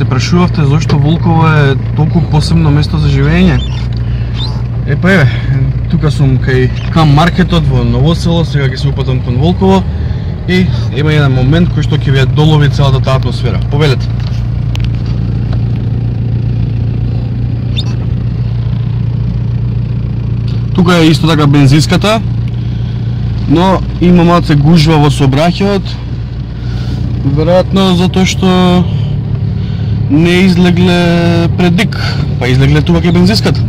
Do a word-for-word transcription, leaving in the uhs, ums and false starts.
се прашувавте зашто Волково е толку посебно место за живење. Е па еве, тука сум кај кам маркетот во Ново село, сега ќе се упатам кон Волково и има еден момент кој што ќе ви ја долови целата таа атмосфера. Повелете. Тука е исто така бензинската, но има малце гужва во сообраќајот, веројатно затоа што не излегле предик, па излегле тука кај бензинската.